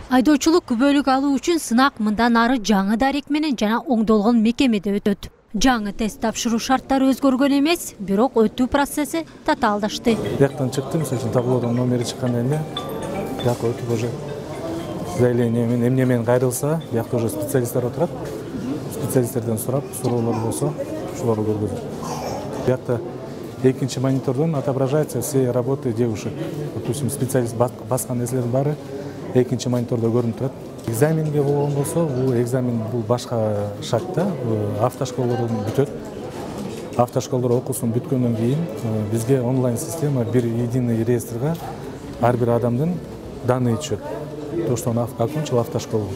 Айдоочулук күбөлүк алуу үчүн сынак мындан ары жаңы дарек менен жана оңдолгон мекемеде өтөт. Жаңы тест тапшыруу шарттары өзгөргөн эмес, бирок өтүү процесси татаалдашты. Бияктан чыктым, мисалы таблодон номери чыккандан кийин бияка өтүп уже заявление менен эмне менен кайрылса, биякта уже специалисттер отурат. Специалисттерден сурап, суроолор болсо, ошолорду көргөзөт. Биякта экинчи монитордон отображаются все работы девушек. Допустим, специалист баскан нерселердин баары экинчи монитордо көрүнүп турат. Экзаменге болгон болсо, бул экзамен бул башка шартта, автошколдордон бүтөт. Автошколдор окуусун бүткөндөн кийин бизге онлайн система бир единый реестрге ар бир адамдын данные түшөт. То, что он окончил автошколу.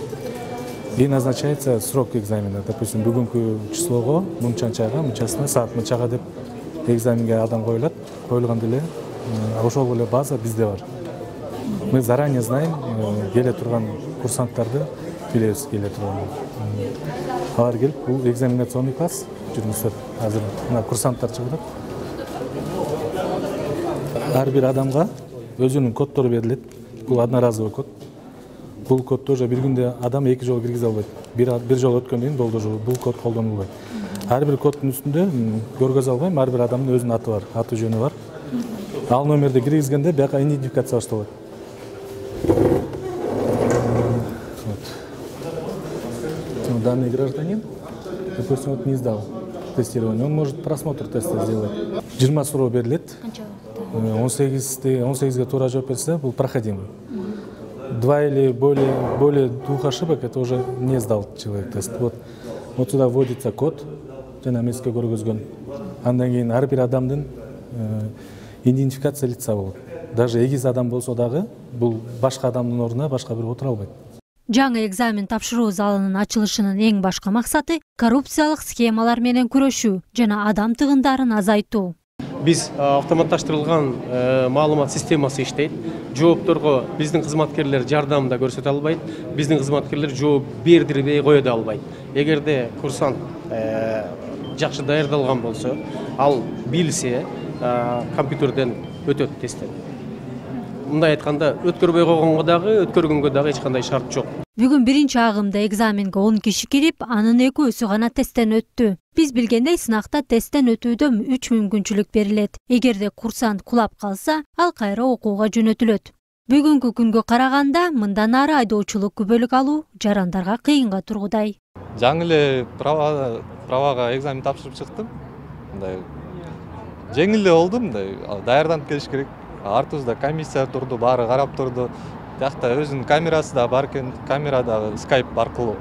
И назначается срок экзамена. Допустим, бүгүнкү числого, мынчанчага, мынчасына, саат мынчага деп экзаменге адам коюлат. Коюлганда эле ошол эле база бизде бар. Мы заранее знаем келе турган курсанттарды, билебиз келе турган. Алар келип, бул экзаменационный класс жүргүзөт. Азыр мына курсанттар чыгып атат. Ар бир адамга өзүнүн коддору берилет. Бул одноразовый код. Бул кодду уже бир күндө адам эки жолу киргизе албайт. Бир жолу өткөндөн кийин болду, бул код колдонулбайт. Ар бир коддун үстүндө көргөзө албайм, ар бир адамдын өзүнүн аты бар, аты жөнү бар. Ал номерди киргизгенде бияка идентификация башталат. Данный гражданин, допустим, вот не сдал тестирование, он может просмотр теста сделать. 20 суроо берилет. 18ге туура жооп берсе, бул проходимый. 2 или более 2 ошибок, это уже не сдал человек тест. Вот сюда вводится код, жана меске көргөзгөн. Андан кийин ар бир адамдын идентификация лица болот. Даже эгиз адам болсо дагы, бул башка адамдын ордуна башка бир отура албайт. Жаңы экзамен тапшыруу залынын ачылышынын эң башкы максаты коррупциялык схемалар менен күрөшүү жана адам тыгындарын азайтуу. Биз автоматташтырылган маалымат системасы иштейт. Жоопторго биздин кызматкерлер жардам да көрсөтө албайт. Биздин кызматкерлер жооп бердирбей кое да албайт. Эгерде курсант жакшы даярдалган болсо, ал билсе, компьютерден өтөт тесттен. Мындай айтканда, өткөрбөй койгонго дагы, өткөргөнгө дагы эч кандай шарт жок. Бүгүн биринчи агымда экзаменге 10 киши кирип, анын 2-сү гана тесттен өттү. Биз билгендей сынакта тесттен өтүүдө 3 мүмкүнчүлүк берилет. Эгерде курсант кулап калса, ал кайра окууга жөнөтүлөт. Бүгүнкү күнгө караганда, мындан ары айдоочулук күбөлүк алуу жарандарга кыйынга тургудай. Жаңы эле правага экзамен тапшырып чыктым. Мындай жеңил эле болду, мындай даярданып келиш керек. Артыбызда комиссия турду, баары карап турду. Тиякта өзүнүн камерасы да бар экен, камерадагы скайп аркылуу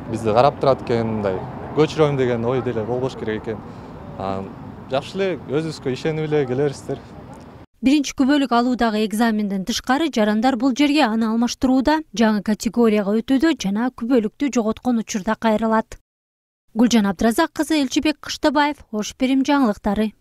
бизди карап турат экен, мындай көчүрөм деген ой деле болбош керек экен. Жакшы эле өзүбүзгө ишенип эле келерсиздер. Биринчи күбөлүк алуудагы экзаменден тышкары жарандар бул жерге аны алмаштырууда, жаңы категорияга өтүүдө жана күбөлүктү жоготкон учурда кайрылат. Гүлжан Абдыразак кызы, Элчибек Кыштабаев, Ош Перим жаңылыктары.